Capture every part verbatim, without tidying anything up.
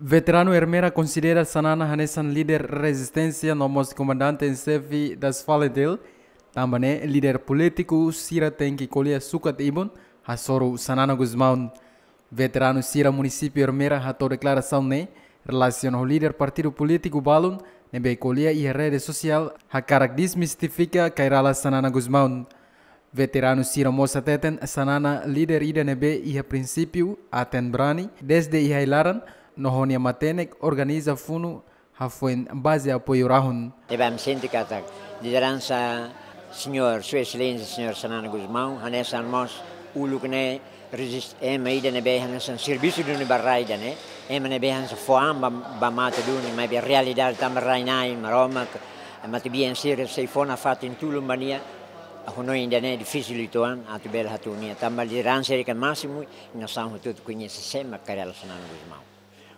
Veteranu Ermera konsidera Xanana hanesan líder rezisténsia no mós komandante en xefe das FALINTIL, tanba ne'e líder polítiku sira tenke ko'alia sukat ibun hasoru Xanana Gusmão. Veteranu sira munisípiu Ermera hato'o deklarasaun ne'e relasiona ho líder partidu polítiku balun ne'ebé ko'alia iha rede sosiál hakarak desmistifika kairala Xanana Gusmão. Veteranu sira mós hateten Xanana líder ida ne'ebé iha prinsípiu, aten brani, dezde iha ai-laran, no ho nia matenek organiza funu hafoin baze apoiu rahun. Ne'ebé ami sente katak lideransa señór, Sua Exelénsia señór Xanana Gusmão, hanesan mós uluk ne'e rezist-, ema ida ne'ebé hanesan servisu duni ba rai ida-ne'e, ema ne'ebé hanesan fó an ba, ba mate duni, maibé realidade tanba rai-na'in, Maromak, matebian sira sei fó nafatin tulun ba nia, hanoin ida-ne'e difisil uitoan atu bele hatún nia. Tanba lideransa ida ke másimu, nasaun hotu-hotu koñese sé mak kairala Xanana Gusmão.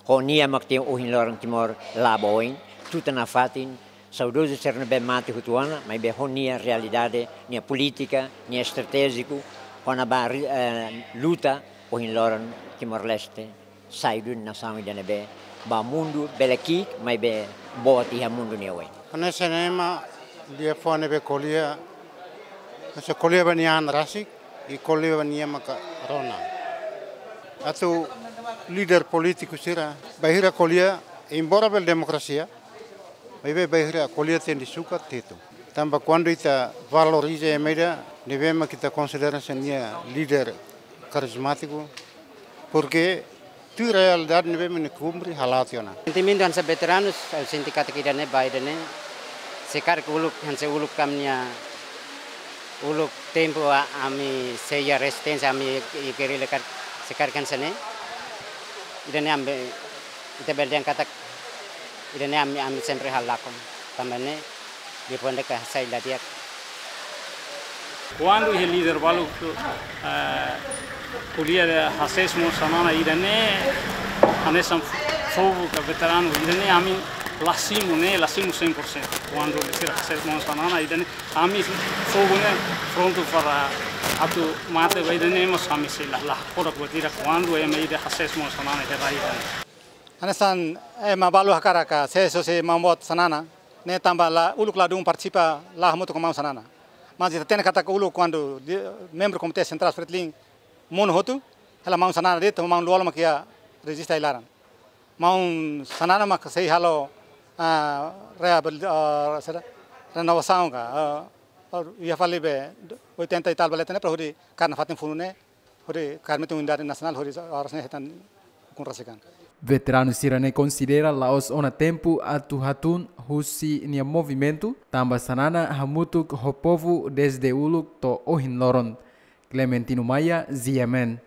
Ho nia mak ohin loron Timor la'o ba oin, tutan nafatin, saudozu sira ne'ebé mate hotu ona, maibé ho nia realidade, nia polítika, nia estratéjiku, kona-ba, eh, luta, ohin loron Timor-Leste sai duni nasaun ida ne'ebé ba mundu bele ki'ik, maibé boot iha mundu nia oin. Hanesan ema liafuan ne'ebé ko'alia, hanesan ko'alia ba nia an rasik, i ko'alia ba nia maka rona. Atu líder polítiku sira, bainhira ko'alia, embora bele demokrasia, maibé bainhira ko'alia tenke sukat, tetu. Tanba kuandu ita valoriza ema ida ne'ebé mak ita konsidera hanesan nia líder karizmátiku, porke tuir realidade ne'ebé mak nia kumpre hala'o tiha ona. Sentimentu hanesan veteranus, ha'u sente katak ida-ne'e ba ida-ne'e, se karik uluk, hanesan uluk ami-nia, uluk tempu a-, ami sei iha rezisténsia, ami iha gerilla karik, se karik hanesan ne'e, ida-ne'e ami, ita bele dehan katak ida-ne'e ami, ami sempre halakon. Tanba ne'e, depois de ka sai la di'ak. Kuandu iha líder balu, eh, ko'alia hasees mós Xanana ida-ne'e, hanesan fogu ka veteranu ida-ne'e, ami la simu ne'e, la simu cem por cento. Kuandu sira hasees mós Xanana ida-ne'e, ami fogu ne'e prontu para atu mate ba ida-ne'e, mas ami sei la, la, ora kuatira kuandu ema ida hasees mós Xanana ida-ne'e. Hanesan ema balu hakarak hasees hosi maun boot Xanana, ne'e tanba la uluk ladún partisipa la hamutuk ho maun Xanana. Mas ita hatene katak uluk kuandu di-, membru Komité Sentrál FRETILIN monu hotu, hela maun Xanana de'it, maun Lú-Olo mak iha rejista ai-laran. Maun Xanana mak sei halo, ah, reabil-, ah, sera-, renovasaun ka, ah, iha fali be oitenta e tal ba leten ne'e para hodi kaer nafatin funu ne'e, hodi kaer metin unidade nasionál, hodi oras ne'e hetan ukun rasik an. Veteranu sira-ne'e konsidera la'ós ona tempu atu hatún husi nia movimentu, tanba Xanana hamutuk ho povu dezde uluk to'o ohin loron. Clementino Maia, G M N.